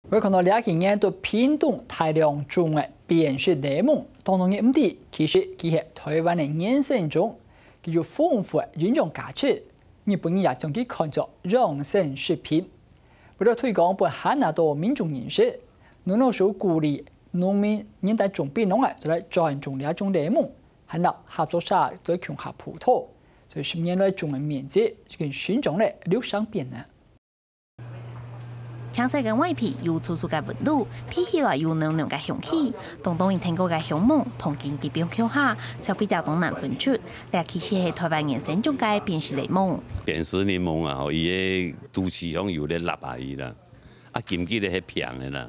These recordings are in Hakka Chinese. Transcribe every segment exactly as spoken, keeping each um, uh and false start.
會看到這幾年在屏東大量種个扁食檸檬，當多人毋知，其實佢係臺灣个原生種，佢有豐富个營養價值。日本人也將佢看作養生食品。為了推廣分還較多民眾認識，農糧署鼓勵農民認得種檳榔个，就來轉種這種檸檬，還摎合作社做共下輔導，所以十年來種个面積已經成長了六成半呢。 青色个外皮有粗粗个紋路，鼻起來有濃濃个香氣。當當一聽過个香味，同經濟變強下，消費者當難分出。這其實係臺灣原生種个扁食檸檬。扁食檸檬啊，吼，佢个肚臍項有咧凹下去啦，啊，金吉个係平个啦，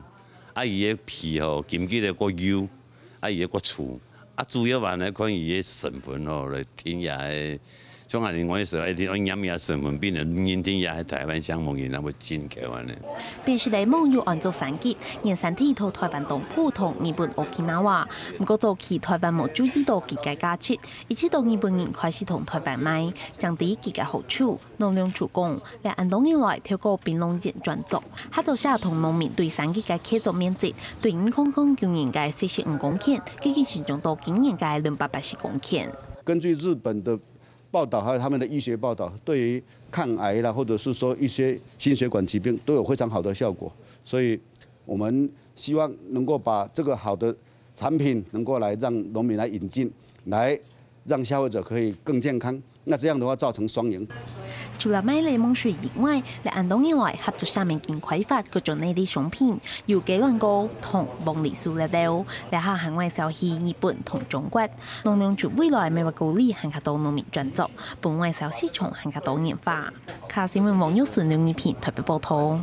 啊，佢个皮吼，金吉个過幼，啊，佢个過粗。啊，主要還係看佢个成分吼，來定這个 像恁呢，𠊎个時候一定愛驗這成分，分人認定這係臺灣香味，然後會進口恁呢。扁食檸檬有安做產季，原產地在臺灣東部同日本Okinawa。毋過早期臺灣無注意到佢个價值，一直到日本人開始同臺灣買，正知佢个好處。農糧署講，這恁多年來透過檳榔園轉作，合作社同農民對產季个契作面積，對二空空九年个四十五公頃，已經成長到今年个兩百八十公頃。根據日本的報道，還有他們的醫學報道，對於抗癌啦，或者是說一些心血管疾病都有非常好的效果。所以我們希望能夠把這個好的產品能夠來讓農民來引進，來讓消費者可以更健康。那這樣的話造成雙贏。除了賣檸檬水以外，這恁多年來合作社面經開發各種內地商品，有雞卵糕同鳳梨酥粒粒，這下還會銷去日本同中國。農糧署未來乜會鼓勵還較多農民轉作， 分外銷市場還較多元化。客家新聞王玉順、劉義平臺北報導。